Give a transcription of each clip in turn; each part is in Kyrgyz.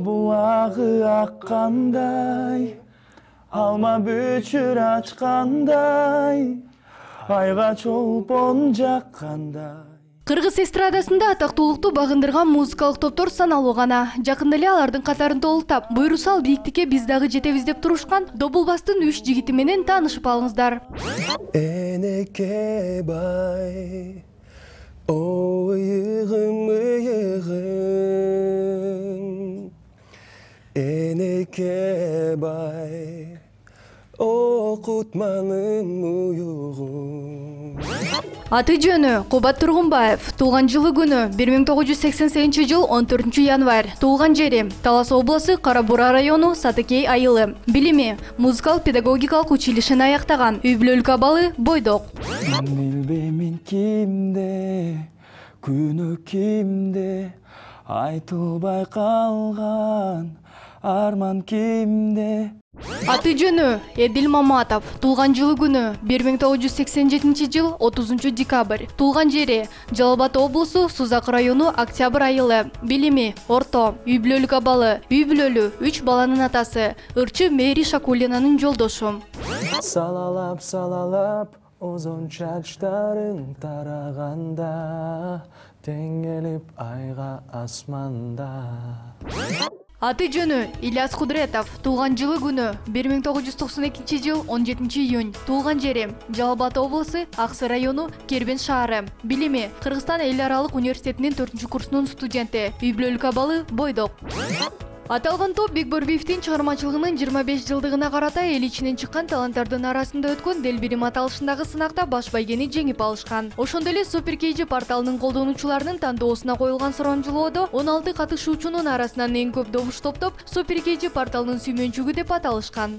булагы аккандай, алма бүчүр ачкандай, айга чолпон жаккандай. Кыргыз эстрадасында атактуулукту багындырган музыкалык топтор саналуу гана. Жакында эле алардын катарын толуктап, буйрусал бийиктикке биз дагы жетебиз деп турушкан Добулбастын 3 жигити менен таанышып алыңыздар. Энеке бай, о ыйыгым ыйыгым, энеке бай, окутманым уюгум. Аты жөнү Кубат Тургунбаев. Туулган жылы күнү 1988 жыл 14 январь. Туулган жери Талас областы Кара Бура району Сатыкей айылы. Билими музыкалык педагогикалык училищени аяктаган. Үй бүлөлүк абалы бойдок. Билбеймин кимде, күнөө кимде, айтылбай калган арман кимде. Аты жөнү Эдил Маматов. Туулган жылы күнү 1987 жыл 30 декабрь. Туулган жери Жалал Абад облусу Сузак району Октябрь айылы. Билими орто. Үй бүлөлүк абалы. Үй бүлөлү 3 баланын атасы. Ырчы Мэри Шакулинанын жолдошу. Салалап салалап озон чачтарың тараганда, теңелип айга асманда. Аты жөнү Ильяс Кудретов. Туулган жылы күнү 1992 жыл 17 июнь. Туулган жери Жалал Абад облусу Аксы району Кербен шаары. Билими Кыргызстан эл аралык университетинин 4-курсунун студенти. Үй бүлөлүк абалы бойдок. Аталган топ Бекборбиевдин чыгармачылыгынын 25 жылдыгына карата эл ичинен чыккан таланттардын арасында өткөн Делбирим аталышындагы сынакта баш байгени жеңип алышкан. Ошондой эле Супер KG порталынын колдонуучуларынын тандоосуна коюлган сурамжылоодо 16 катышуучунун арасынан эң көп добуш топтоп Супер KG порталынын сүймөнчүгү деп аталышкан.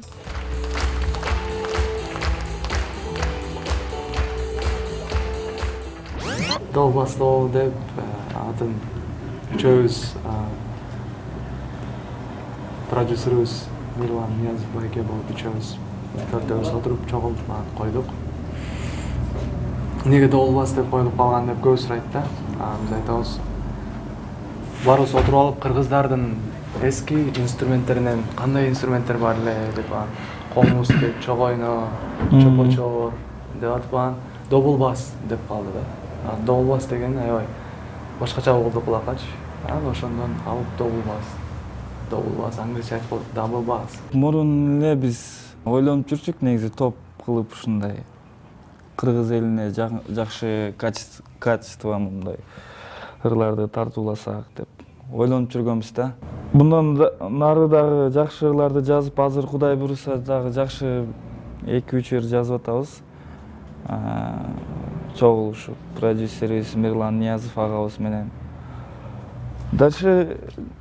Добулбастоо деп атын үчөөбүз продюсерибиз Мирлан Ниязов байке болуп үчөөбүз төртөөбүз отуруп чогулуп койдук. Эмнеге Добулбас деп коюлуп калган деп көбү сурайт да. Биз айтабыз. Барыбыз отуруп алып кыргыздардын эски инструменттеринен кандай инструменттер бар эле деп комуз деп, чогойно, чопорчор деп атпан Добулбас деп калды да. Добулбас деген аябай башкача болду кулакчы. Ошондон алып Добулбас англисче айтып коюп Double-Bass. Мурун эле биз ойлонуп жүрчүк негизи топ кылып ушундай кыргыз элине жакшы качество мындай ырларды тартууласак деп ойлонуп жүргөнбүз да. Мындан нары дагы жакшы ырларды жазып, азыр Кудай буйруса дагы жакшы 2-3 ыр жазып атабыз. Чогулушуп продюсерибиз Мирлан Ниязов агабыз менен. Дальше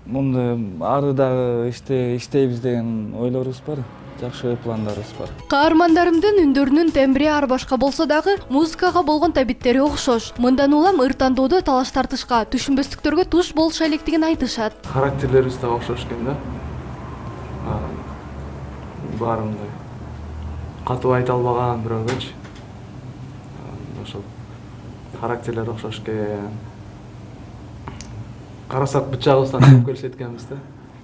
мындай ары дагы иштейбиз деген ойлорубуз бар. Жакшы пландарыбыз бар. Каармандарымдын үндөрүнүн тембри ар башка болсо дагы музыкага болгон табиттери окшош. Мындан улам ыр тандоодо талаш тартышка, түшүнбөстүктөргө туш болуша электигин айтышат. Характерлерибиз да окшош экен да. Баары мындай катуу айта албаган бирөөгөчү. Ошол характерлер окшош экен. Карасак бычагыбыздан чыгып келишет экенбиз да.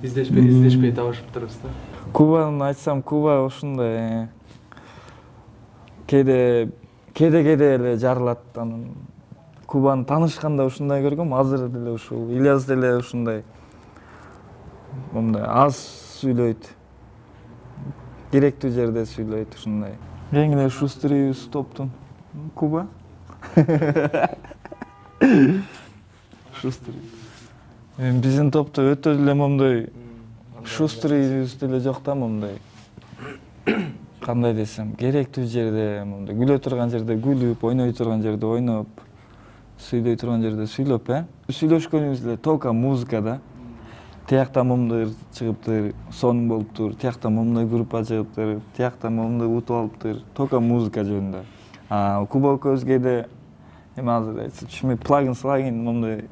Издешпей табышып турабыз да. Кубаны айтсам, Куба ушундай кээде эле жарылат. Кубаны таанышканда ушундай көргөм, азыр деле ушул Ильяс деле ушундай мындай аз сүйлөйт. Керектүү жерде сүйлөйт ушундай. Эң эле шустрыйбыз топтун. Куба. Шустрый. Биздин топто өтө эле момдой шустрыйбыз деле жок да, момдой. Кандай десем, керектүү жерде, момдой күлө турган жерде күлүп, ойной турган жерде ойноп, сүйлөй турган жерде сүйлөп, Сүйлөшкөнүбүз эле только музыка да. Тиякта момдой чыгыптыр, сонун болуптур, тиякта момдой группа чыгыптыр, тиякта момдой утуп алыптыр, только музыка жөнүндө. Куба көзгеде эми азыр айтсам, плагин момдой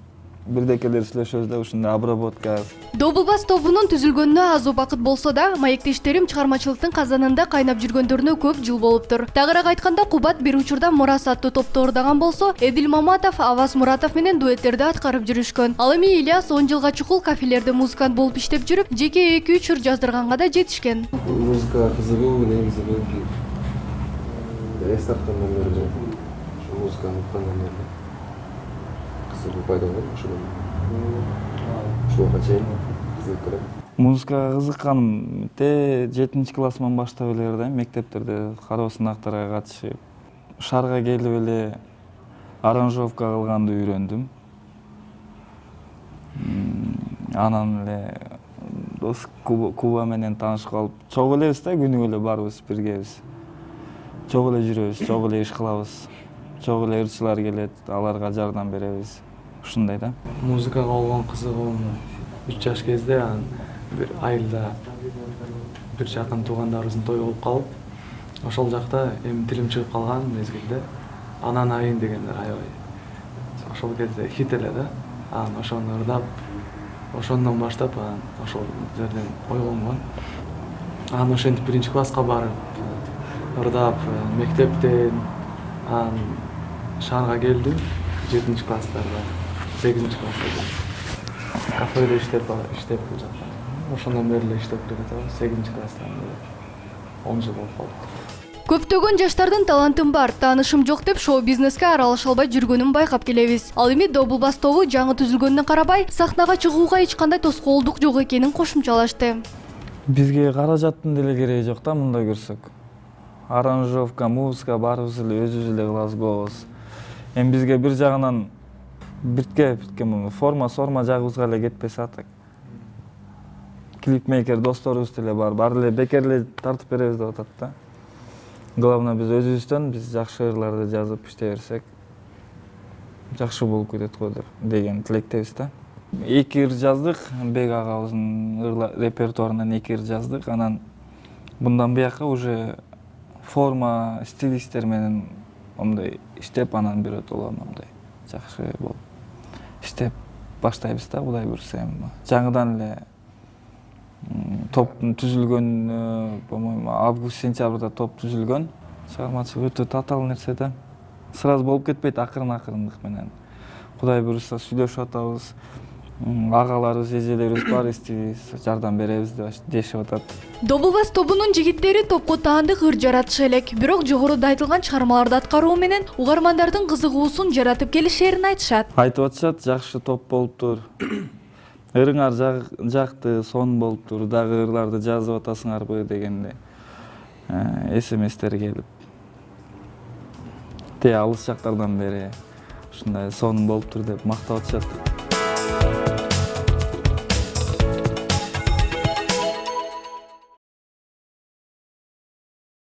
бирдекелер сүйлөшөбүз да, ушундай обработка. Double Bass тобунун түзүлгөнүнө аз убакыт болсо да, маектештерим чыгармачылыктын казанында кайнап жүргөндөрүнө көп жыл болуптур. Тагыраак айтканда, Кубат бир учурда Мурас аттуу топту ордогон болсо, Эдил Маматов, Аваз Муратов менен дуэттерди аткарып жүрүшкөн. Ал эми Ильяс 10 жылга чукул кафелерде музыкант болуп иштеп жүрүп, жеке 2-3 ыр жаздырганга да жетишкен. Музыка кызыгуу негизи белки эстарттан бери музыканы уккандан бери кызыгуу пайда болду ошондон. Ушуга чейин кызыгып келем. Музыкага кызыкканым 7-классыман баштап эле да, мектептерде кароо сынактарга катышып, шаарга келип эле аранжировка кылганды үйрөндүм. Анан эле дос Куба менен таанышып калып, чогуу элебиз да, күнүгө эле барбыз, биргебиз. Чогуу эле жүрөбүз, чогуу эле иш кылабыз. Чогуу эле ырчылар келет, аларга жардам беребиз. Ушундай да. Музыкага болгон кызыгуум 3 жаш кезде бир айылда бир жакын туугандарыбыздын тою болуп калып, ошол жакта эми тилим чыгып калган мезгилде Анан айын дегендер аябай. Ошол кезде хит эле да. Ошону ырдап, ошондон баштап ошол жерден ойгонгон. Ошентип 1-класска барып, ырдап, мектептен шаарга келдим 7-класстарда, 8-класста. Кафеде иштеп бул жакта. Ошондон бери эле иштеп келатабыз, 8-класстан бери 10 жыл болуп калды. Көптөгөн жаштардын талантым бар, таанышым жок деп шоу-бизнеске аралаша албай жүргөнүн байкап келебиз. Ал эми Double Bass тобу жаңы түзүлгөнүнө карабай, сахнага чыгууга эч кандай тоскоолдук жок экенин кошумчалашты. Бизге каражаттын деле кереги жок да, мындай көрсөк. Аранжировка, музыка баарыбыз эле өзүбүз эле кылабыз, болобуз. Эми бизге бир жагынан биртке форма жагыбызга эле кетпесе атак. Клипмейкер досторубуз деле бар, баары эле бекер эле тартып беребиз деп атат да. Главное, биз өзүбүздөн биз жакшы ырларды жазып иштей берсек, жакшы болуп кетет го деген тилектебиз да. 2 ыр жаздык, Бек агабыздын репертуарынан 2 ыр жаздык. Анан мындан буяка уже форма, стилисттер менен мындай иштеп, анан биротоло мындай жакшы болуп иштеп баштайбыз да, Кудай буйрса эми. Жаңыдан эле топтун түзүлгөн, по-моему, август-сентябрда топ түзүлгөн. Чыгармачылык өтө татаал нерсе да. Сразу болуп кетпейт, акырындык менен. Кудай буйрса сүйлөшүп атабыз. Агаларыбыз, эжелерибиз бар, истейбиз, жардам беребиз дешип атат. Double Bass тобунун жигиттери топко таандык ыр жаратышы элек, бирок жогоруда айтылган чыгармаларды аткаруу менен угармандардын кызыгуусун жаратып келишерин айтышат. Айтып атышат, жакшы топ болуптур. Ырыңар жакты, сон болуптур, дагы ырларды жазып атасыңарбы дегенде СМСтер келип. Алыс жактардан бери ушундай сон болуптур деп мактап атышат.